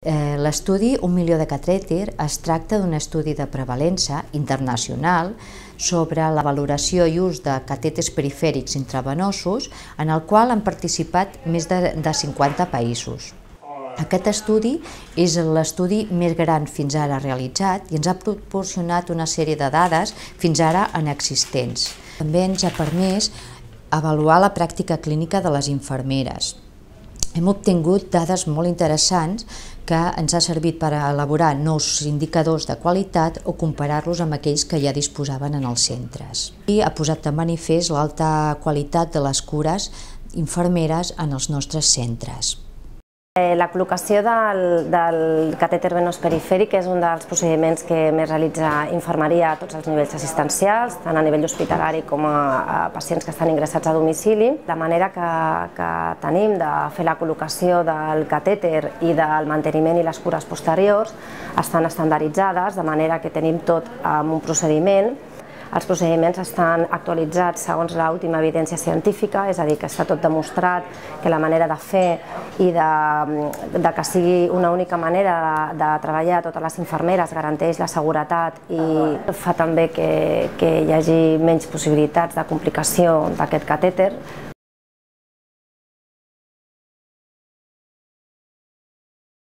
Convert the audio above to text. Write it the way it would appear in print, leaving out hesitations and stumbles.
L'estudi 1 milió de catèter es tracta d'un estudi de prevalença internacional sobre la valoració i ús de catèters perifèrics intravenosos en el qual han participat més de 50 països. Aquest estudi és l'estudi més gran fins ara realitzat i ens ha proporcionat una sèrie de dades fins ara inexistents. També ens ha permès avaluar la pràctica clínica de les infermeres. Hem obtingut dades molt interessants que ens ha servit per elaborar nous indicadors de qualitat o comparar-los amb aquells que ja disposaven en els centres. I ha posat de manifest l'alta qualitat de les cures infermeres en els nostres centres. La col·locació del catèter venós perifèric és un dels procediments que més realitza infermeria a tots els nivells assistencials, tant a nivell hospitalari com a pacients que estan ingressats a domicili. La manera que tenim de fer la col·locació del catèter i del manteniment i les cures posteriors estan estandarditzades, de manera que tenim tot en un procediment. Els procediments estan actualitzats segons l'última evidència científica, és a dir, que està tot demostrat que la manera de fer i que sigui una única manera de treballar a totes les infermeres garanteix la seguretat i fa també que hi hagi menys possibilitats de complicació d'aquest catèter.